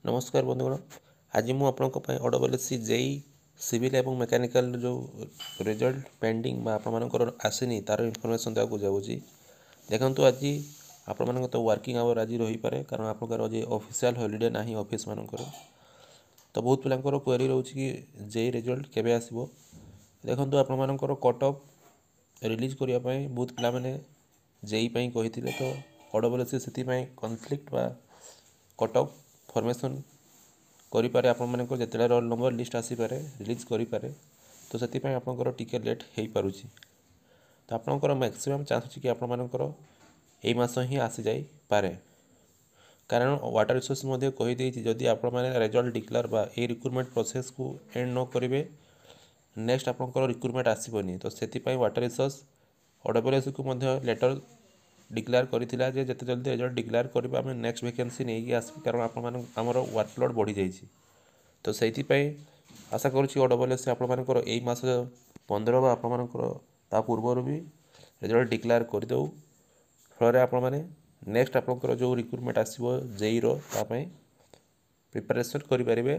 ନମସ୍କାର ବନ୍ଧୁଗଣ, ଆଜି ମୁଁ ଆପଣଙ୍କ ପାଇଁ ଓଡବଲ୍ଏସ୍ସି ଜେଇ ସିଭିଲ୍ ଏବଂ ମେକାନିକାଲ ଯେଉଁ ରେଜଲ୍ଟ ପେଣ୍ଡିଂ ବା ଆପଣମାନଙ୍କର ଆସିନି, ତା'ର ଇନଫର୍ମେସନ୍ ଦେବାକୁ ଯାଉଛି। ଦେଖନ୍ତୁ, ଆଜି ଆପଣମାନଙ୍କ ତ ୱାର୍କିଂ ଆୱାର ଆଜି ରହିପାରେ, କାରଣ ଆପଣଙ୍କର ଆଜି ଅଫିସିଆଲ୍ ହଲିଡ଼େ ନାହିଁ ଅଫିସମାନଙ୍କର। ତ ବହୁତ ପିଲାଙ୍କର କ୍ୱେରି ରହୁଛି କି ଜେଇ ରେଜଲ୍ଟ କେବେ ଆସିବ। ଦେଖନ୍ତୁ, ଆପଣମାନଙ୍କର କଟ୍ ଅଫ୍ ରିଲିଜ୍ କରିବା ପାଇଁ ବହୁତ ପିଲାମାନେ ଜେଇ ପାଇଁ କହିଥିଲେ। ତ ଓଡବଲ୍ଏସ୍ସି ସେଥିପାଇଁ କନଫ୍ଲିକ୍ଟ ବା କଟ୍ ଅଫ୍ ଫର୍ମେସନ୍ କରିପାରେ। ଆପଣମାନଙ୍କର ଯେତେବେଳେ ରୋଲ୍ ନମ୍ବର ଲିଷ୍ଟ ଆସିପାରେ, ରିଲିଜ୍ କରିପାରେ। ତ ସେଥିପାଇଁ ଆପଣଙ୍କର ଟିକେ ଲେଟ୍ ହେଇପାରୁଛି। ତ ଆପଣଙ୍କର ମ୍ୟାକ୍ସିମମ୍ ଚାନ୍ସ ଅଛି କି ଆପଣମାନଙ୍କର ଏଇ ମାସ ହିଁ ଆସିଯାଇପାରେ, କାରଣ ୱାଟର ରିସୋର୍ସ ମଧ୍ୟ କହିଦେଇଛି, ଯଦି ଆପଣମାନେ ରେଜଲ୍ଟ ଡିକ୍ଲେୟାର ବା ଏଇ ରିକ୍ରୁଟମେଣ୍ଟ ପ୍ରୋସେସ୍କୁ ଏଣ୍ଡ ନ କରିବେ, ନେକ୍ସଟ ଆପଣଙ୍କର ରିକ୍ରୁଟମେଣ୍ଟ ଆସିବନି। ତ ସେଥିପାଇଁ ୱାଟର ରିସୋର୍ସ ଓଡବଲ୍ଏସ୍ସିକୁ ମଧ୍ୟ ଲେଟର୍ ଡିକ୍ଲେୟାର କରିଥିଲା ଯେ ଯେତେ ଜଲ୍ଦି ରେଜଲ୍ଟ ଡିକ୍ଲେୟାର କରିବେ, ଆମେ ନେକ୍ସଟ ଭେକେନ୍ସି ନେଇକି ଆସିବୁ, କାରଣ ଆପଣମାନଙ୍କ ଆମର ୱାର୍କଲୋଡ଼ ବଢ଼ିଯାଇଛି। ତ ସେଇଥିପାଇଁ ଆଶା କରୁଛି ଓଡବଲ୍ଏସ୍ସି ଆପଣମାନଙ୍କର ଏଇ ମାସ 15 ବା ଆପଣମାନଙ୍କର ତା ପୂର୍ବରୁ ବି ରେଜଲ୍ଟ ଡିକ୍ଲେୟାର କରିଦେଉ। ଫଳରେ ଆପଣମାନେ ନେକ୍ସଟ ଆପଣଙ୍କର ଯେଉଁ ରିକ୍ରୁଟମେଣ୍ଟ ଆସିବ ଜେଇର, ତା ପାଇଁ ପ୍ରିପାରେସନ୍ କରିପାରିବେ।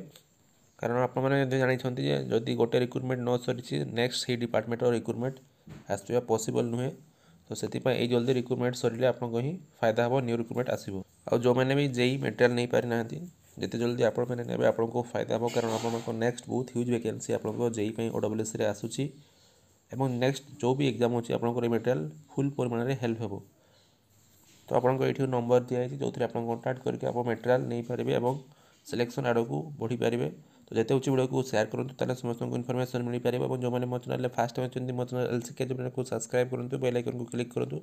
କାରଣ ଆପଣମାନେ ମଧ୍ୟ ଜାଣିଛନ୍ତି ଯେ ଯଦି ଗୋଟେ ରିକ୍ରୁଟମେଣ୍ଟ ନ ସରିଛି, ନେକ୍ସଟ ସେଇ ଡିପାର୍ଟମେଣ୍ଟର ରିକ୍ରୁଟମେଣ୍ଟ ଆସିବା ପସିବଲ୍ ନୁହେଁ। ତ ସେଥିପାଇଁ ଏଇ ଜଲ୍ଦି ରିକ୍ରୁଟମେଣ୍ଟ ସରିଲେ ଆପଣଙ୍କ ହିଁ ଫାଇଦା ହେବ, ନ୍ୟୁ ରିକ୍ରୁଟମେଣ୍ଟ ଆସିବ। ଆଉ ଯେଉଁମାନେ ବି ଜେଇ ମେଟେରିଆଲ୍ ନେଇପାରିନାହାନ୍ତି, ଯେତେ ଜଲ୍ଦି ଆପଣମାନେ ନେବେ, ଆପଣଙ୍କୁ ଫାଇଦା ହେବ, କାରଣ ଆପଣଙ୍କ ନେକ୍ସଟ ବହୁତ ହ୍ୟୁଜ୍ ଭେକେନ୍ସି ଆପଣଙ୍କ ଜେଇ ପାଇଁ ଓଡବ୍ଲ୍ୟୁଏସ୍ସିରେ ଆସୁଛି ଏବଂ ନେକ୍ସଟ ଯେଉଁ ବି ଏକ୍ଜାମ୍ ଅଛି, ଆପଣଙ୍କର ଏ ମେଟେରିଆଲ୍ ଫୁଲ୍ ପରିମାଣରେ ହେଲ୍ପ ହେବ। ତ ଆପଣଙ୍କ ଏଇଠି ନମ୍ବର ଦିଆଯାଇଛି, ଯେଉଁଥିରେ ଆପଣ କଣ୍ଟାକ୍ଟ କରିକି ଆପଣ ମେଟେରିଆଲ୍ ନେଇପାରିବେ ଏବଂ ସିଲେକ୍ସନ୍ ଆଡ଼କୁ ବଢ଼ିପାରିବେ। ତ ଯେତେ ହେଉଛି ଭିଡ଼ିଓକୁ ସେୟାର କରନ୍ତୁ, ତାହେଲେ ସମସ୍ତଙ୍କୁ ଇନଫର୍ମେସନ୍ ମିଳିପାରିବ। ଏବଂ ଯେଉଁମାନେ ମୋ ଚ୍ୟାନେଲରେ ଫାଷ୍ଟ ଟାଇମ୍ ଅଛନ୍ତି, ମୋ ଚ୍ୟାନେଲ୍ ଏଲ୍ ସି କେ କୁ ସବସ୍କ୍ରାଇବ୍ କରନ୍ତୁ, ବେଲ୍ ଆଇକନ୍କୁ କ୍ଲିକ୍ କରନ୍ତୁ,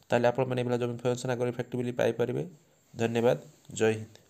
ତାହେଲେ ଆପଣମାନେ ଏଭଳିଆ ଯେଉଁ ଇନଫର୍ମେସନ୍ ଆଗରେ ଇଫେକ୍ଟିଭଲି ପାଇପାରିବେ। ଧନ୍ୟବାଦ, ଜୟ ହିନ୍ଦ।